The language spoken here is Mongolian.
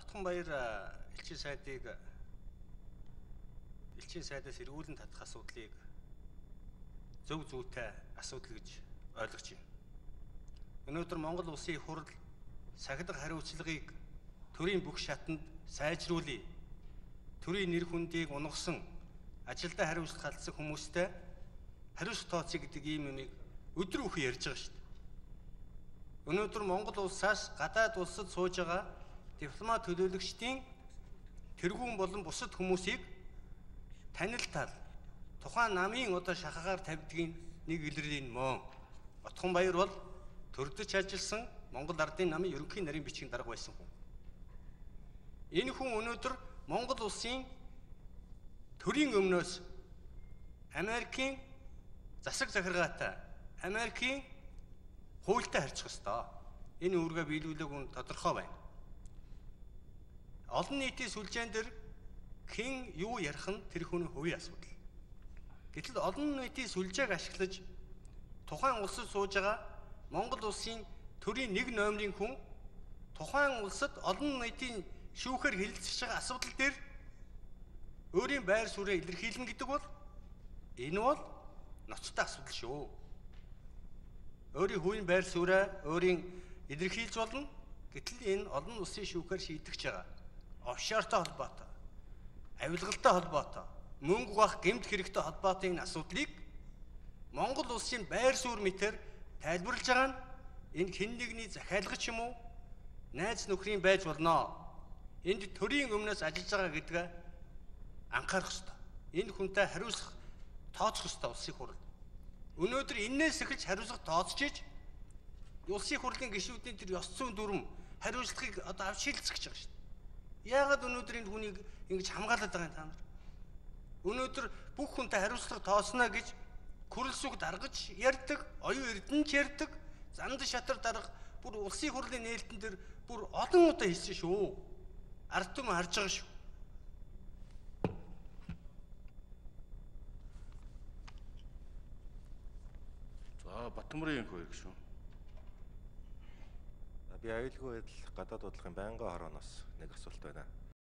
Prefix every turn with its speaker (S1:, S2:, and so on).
S1: Давтганбаяр элчин сайдаас эргүүлэн татах асуудлыг зөв зүйтэй асуудал гэж ойлгож байна. Өнөөдөр Монгол улсын их хурл сахилга хариуцлагыг төрийн бүх шатанд сайжруулъя. Төрийн нэр хүндийг унгасан ажилдаа хариуцлага халдсан хүмүүстэй хариуцлага тооцъё гэдэг ийм юмыг өдөр бүхэн ярьж байгаа шүү дээ. Өнөөдөр Монгол улсаас гадаад улсад сууж байгаа дипломат төлөөлөгчдийн тэргүүн болон бусад хүмүүсийг танилтал тухайн намын одоо шахагаар тавьдгийн нэг илэрлийн мөн. Давтганбаяр бол төрдөж ажилласан Монгол Ардын намын ерөнхий нарийн бичгийн дарга байсан хүн. Энэ хүн өнөөдөр Монгол улсын төрийн өмнөөс Америкийн засаг захиргаатай, Америкийн хуультай харьцах ёстой. Энэ үүргээ биелүүлээг нь тодорхой байна. Олон нийтийн сүлжээн дээр хэн юу ярих нь тэр хүний хувийн асуудал. Гэтэл олон нийтийн сүлжээг ашиглаж тухайн улсад сууж байгаа Монгол улсын төрийн нэг номерын хүн тухайн улсад олон нийтийн шүүхээр хэлэлцэж байгаа асуудал дээр өөрийн байр сууриа илэрхийлнэ гэдэг бол энэ бол ноцтой асуудал шүү. Өөрийн хувийн байр сууриа өөрийн илэрхийлж болно. Гэтэл энэ олон улсын шүүхээр шийдэгч байгаа. Офшортой холбоотой, авилгалтай холбоотой, мөнгө бах гэмт хэрэгтэй холбоотой энэ асуудлыг Монгол улсын байр суурь мэтэр тайлбарлаж байгаа нь энэ хэн нэгний захиалгач юм уу? Найз нөхрийн байж болно. Энд төрийн өмнөөс ажиллаж байгаа гэдгээ анхаарах ёстой. Энэ хүнтэй хариуцлах тооцох ёстой улсын хурл. Өнөөдөр энээс эхэлж хариуцлага тооцож улсын хурлын гишүүдийн тэр ёс зүйн дүрм хариуцлагыг одоо авч шилжих гэж байгаа шүү дээ. Яагаад өнөөдөр энэ хүнийг ингэж хамгаалаад байгаа юм та нар? Өнөөдөр бүх хүнтэй хариуцлага тооцно гэж күрэл сүг даргаж ярьдаг, оюун эрдэнэч ярьдаг, занд шатар дарга бүр улсын хурлын нээлтэн дээр бүр олон удаа хэлсэн шүү. Ард түмэн харж байгаа шүү.
S2: За Батмөрийн хөө ирэх шүү.
S3: Би аюулгүй байдал гадаад бодлогын байнгын хорооноос нэг асуулт байна.